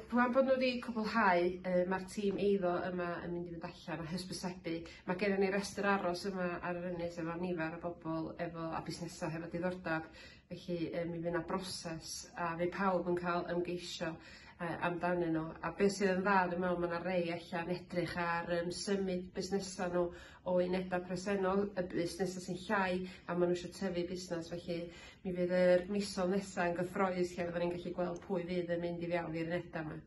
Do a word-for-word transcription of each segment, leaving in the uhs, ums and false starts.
Rwan bod nhw wedi cwblhau, yy ma'r tîm eiddo yma yn mynd i fynd allan a hysbysebu. Ma' gennon ni restr aros yma ar yr ynys efo nifer o bobol efo a busnesa hefo diddordab, felly yy mi fy' 'na broses a fydd pawb yn ca'l ymgeisio yy amdanyn nw, a be' sydd yn dda dwi me'wl ma' 'na rei ella'n edrych ar yym symud busnesa nw o uneda presennol, y busnesa sy'n llai a ma' nw isio tyfu busnes, felly mi fydd yr misoedd nesa yn gyffrous lle fyddan ni'n gallu gweld pwy fydd yn mynd i fewn i'r uneda 'ma.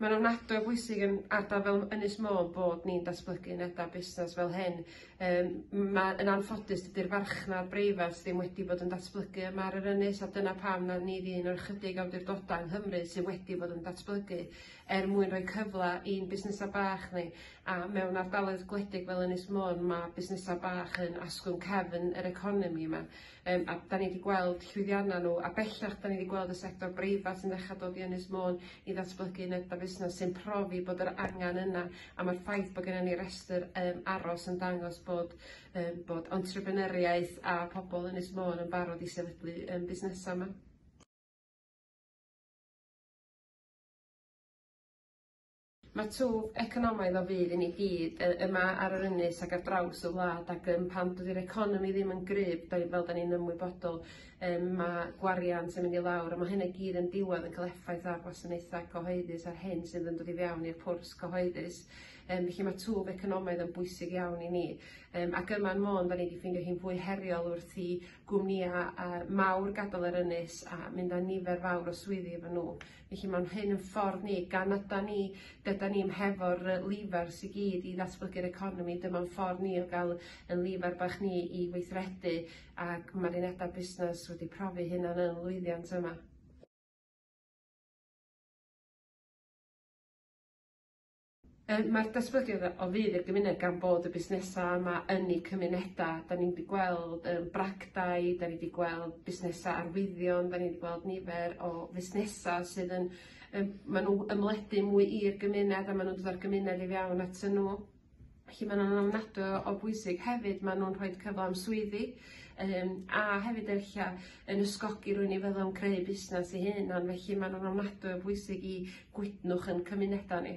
Ma'n ofnadwy o bwysig yn ardal fel Ynys Môn bod ni'n datblygu uneda busnes fel hyn, yym ma' yn anffodus dydi'r farchnad breifat ddim wedi bod yn datblygu yma ar yr ynys a dyna pam na ni 'di un o'r ychydig awdurdoda yng Nghymru sydd wedi bod yn datblygu er mwyn rhoi cyfla i'n busnesa bach ni, a mewn ardaloedd gwledig fel Ynys Môn ma' busnesa bach yn asgwrn cefn yr economi yma, yym a 'dan ni 'di gweld llwyddianna n'w a bellach 'dan ni 'di gweld y sector breifat yn dechra dod i Ynys Môn i ddatblygu uneda busnes sy'n profi bod yr angan yna, a ma'r ffaith bo' gennyn ni restyr yym aros yn dangos bod yym bod entrepreneuriaeth a pobol Ynys Môn yn barod i sefydlu yym busnesa 'ma. Ma' twf economaidd o fudd i ni gyd yy yma ar yr ynys ag ar draws y wlad ag yym pan dydi'r economi ddim yn gryf 'da ni fel 'dan ni'n ymwybodol yym ma' gwariant yn mynd i lawr a ma' hynna i gyd yn diwadd yn ca'l effaith ar gwasanaetha cyhoeddus a'r hyn sydd yn dod i fewn i'r pwrs cyhoeddus, yym felly ma' twf economaidd yn bwysig iawn i ni, yym ac yma yn Môn 'da ni 'di ffeindio hi'n fwy heriol wrth i gwmnïa yy mawr gadal yr ynys a mynd â nifer fawr o swyddi efo nw, felly ma'n hyn yn ffordd ni gan ydan ni dydan ni'm hefo'r yy lifars i gyd i ddatblygu'r economi, dyma'n ffordd ni o ga'l yn lifar bach ni i weithredu ac ma'r uneda busnes wedi profi hunan yn lwyddiant yma. Yym ma'r datblygiad o fudd i'r gymuned gan bod y busnesa yma yn eu cymuneda, 'da ni'n 'di gweld yym bragdai, 'da ni 'di gweld busnesa arwyddion, 'da ni 'di gweld nifer o fusnesa sydd yn yym ma' nw ymledu mwy i'r gymuned a ma' nw'n dod â'r gymuned i fewn atyn nw. Felly ma' nw'n ofnadwy o o bwysig hefyd ma' nw'n rhoid cyfla am swyddi yym a hefyd ella yn ysgogi rywun i feddwl am creu busnes i hunan, felly ma' nw'n ofnadwy o bwysig i gwydnwch yn cymuneda ni.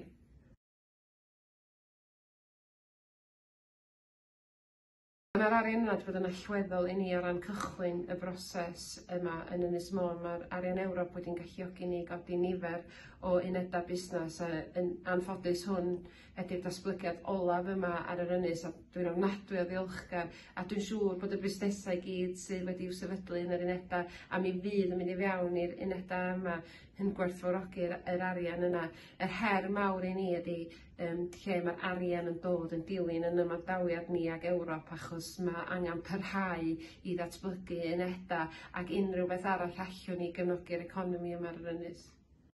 Ma'r arian yna 'di bod yn allweddol i ni o ran cychwyn y broses yma yn Ynys Môn, ma'r arian Ewrop wedi'n galluogi ni i godi nifer o uneda busnes a yn anffodus hwn ydi'r datblygiad olaf yma ar yr ynys a dwi'n ofnadwy o ddiolchgar a dwi'n siŵr bod y busnesa i gyd sydd wedi'w sefydlu yn yr uneda a mi fydd yn mynd i fewn i'r uneda yma yn gwerthfawrogi'r yr arian yna. Yr her mawr i ni ydi yym lle ma'r arian yn dod yn dilyn yn ymadawiad ni ag Ewrop achos ma' angan parhau i ddatblygu uneda ac unrhyw beth arall allwn ni gefnogi'r economi yma ar yr ynys.